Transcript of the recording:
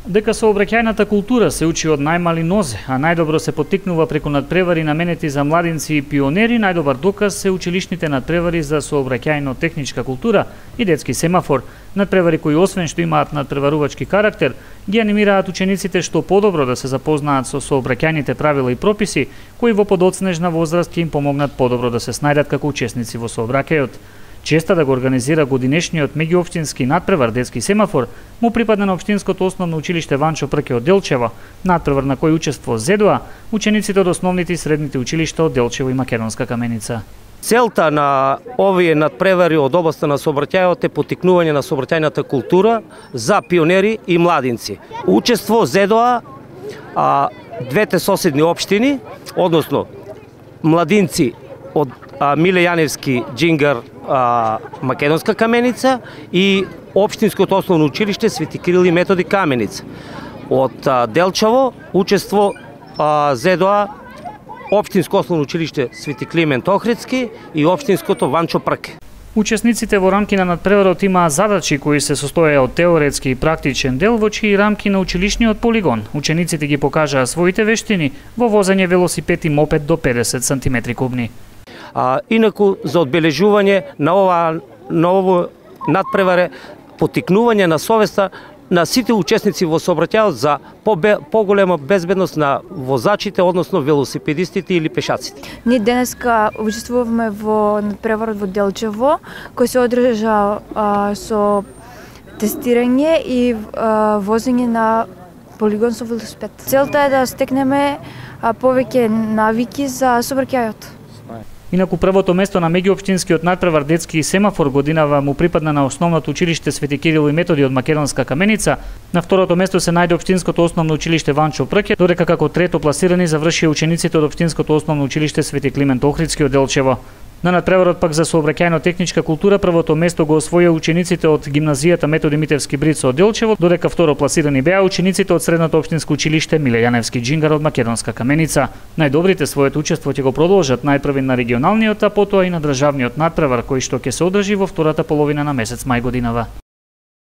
Дека сообраќајната култура се учи од најмали нозе, а најдобро се поттикнува преку надпревари наменети за младинци и пионери, најдобар доказ се училишните надпревари за сообраќајно-техничка култура и детски семафор, надпревари кои освен што имаат надпреварувачки карактер, ги анимираат учениците што подобро да се запознаат со сообраќајните правила и прописи, кои во подоцнежна возраст ќе им помогнат подобро да се снајдат како учесници во сообраќајот. Честа да го организира годинешниот меѓуопштински надпревар детски семафор му припадна на општинското основно училиште Ванчо Прке од Делчево, надпревар на кој учествува ЗЕДОа, учениците од основните и средните училишта од Делчево и Македонска Каменица. Целта на овие надпревари од областа на сообраќајот е поттикнување на сообраќајната култура за пионери и младинци. Учество ЗЕДОа, двете соседни општини, односно младинци од Миле Јаневски Џингар, Македонска Каменица и општинското основно училиште Свети Кирил и Методи Каменица. Од Делчево учество ЗЕДОа, општинско основно училиште Свети Климент Охридски и општинското Ванчо Прке. Учесниците во рамки на надпреварот имаа задачи кои се состојаа од теоретски и практичен дел, во чии рамки на училишниот полигон учениците ги покажаа своите вештини во возење велосипед и мопед до 50 см кубни. Инаку за одбележување на ово надпреваре поттикнување на совеста на сите учесници во сообраќајот за поголема безбедност на возачите, односно велосипедистите или пешаците. Ние денеска учествуваме во надпреварот во Делчево, кој се одржа со тестирање и возење на полигон со велосипед. Целта е да стекнеме повеќе навики за сообраќајот. Инаку првото место на меѓуопштинскиот надпревар детски семафор годинава му припадна на основното училиште Свети Кирил и Методи од Македонска Каменица. На второто место се најде општинското основно училиште Ванчо Прке, додека како трето пласирани завршија учениците од општинското основно училиште Свети Климент Охридски од Делчево. На надпреварот пак за сообраќајно-техничка култура првото место го освоија учениците од гимназијата Методи Митевски Брицо од Делчево, додека второ пласирани беа учениците од средното општинско училиште Миле Јаневски Џингар од Македонска Каменица. Најдобрите своето учество ќе го продолжат најпрви на регионалниот, а потоа и на државниот надпревар кој што ќе се одржи во втората половина на месец мај годинава.